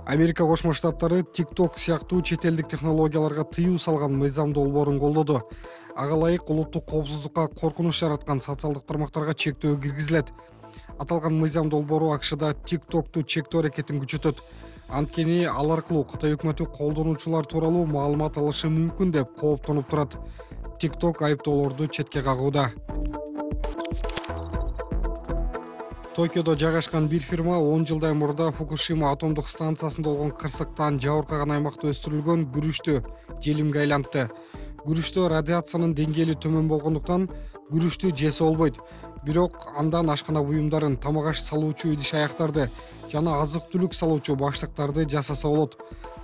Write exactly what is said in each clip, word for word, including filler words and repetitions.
Америка Кошмо Штаттары TikTok сыяктуу чет элдик технологияларга тыюу салган мыйзам долбоорун колдоду. Ага ылайык улуттук коопсуздукка коркунуч жараткан социалдык тармактарга чектөө киргизилет. Аталган мыйзам долбоору АКШда TikToкту чектөө аракетин күчөтөт. Анткени ал аркылуу Кытай өкмөтү колдонуучулар тууралуу маалымат алышы мүмкүн деп кооптонуп турат. TikTok айыптоолорду четке кагууда. Токиодо жайгашкан бир фирма он жылдай мурда Фукушима атомдук станциясында болгон кырсыктан жабыркаган аймакта өстүрүлгөн күрүчтү желимге айлантты. Күрүчтө радиациянын деңгээли төмөн болгондуктан күрүчтү жесе болбойт. Бирок андан ашкана буюмдарын, тамак аш салуучу идиш аяктарды жана азык-түлүк салуучу баштыктарды жасаса болот.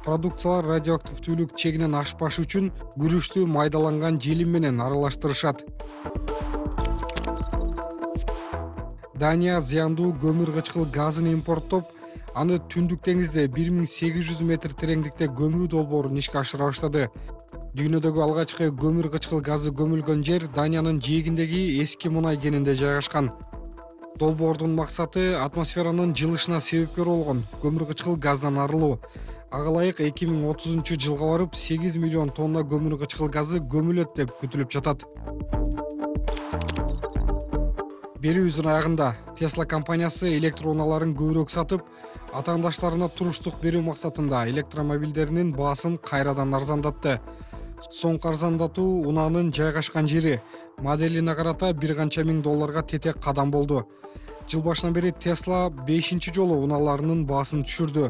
Продукциялар радиоактивдүүлүк чегинен ашпашы үчүн күрүчтү майдаланган желим менен аралаштырышат. Дания зыяндуу көмүр кычкыл газын импорттоп, аны Түндүк деңизде бир миң сегиз жүз метр тереңдикте көмүү долбоорун ишке ашыра баштады. Дүйнөдөгү алгачкы көмүр кычкыл газы көмүлгөн жер Даниянын жээгиндеги эски мунай кенинде жайгашкан. Долбоордун максаты атмосферанын жылышына себепкер болгон көмүр кычкыл газдан арылуу. Ага ылайык эки миң отузунчу жылга барып сегиз миллион тонна көмүр кычкыл газы көмүлөт деп күтүлүп жатат. Берүүбүздүн аягында Tesla компаниясы электр унааларын көбүрөөк сатып, атаандаштарына туруштук берүү максатында электромобилдеринин баасын кайрадан арзандатты. Соңку арзандатуу унаанын жайгашкан жери моделине карата бир канча миң долларга тетек кадам болду. Жыл башынан бери Tesla бешинчи жолу унааларынын баасын түшүрдү.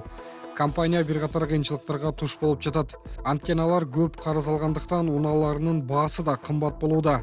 Компания бир катар кыйынчылыктарга туш болуп жатат. Анткени алар көп карыз алгандыктан унааларынын баасы да кымбат болууда.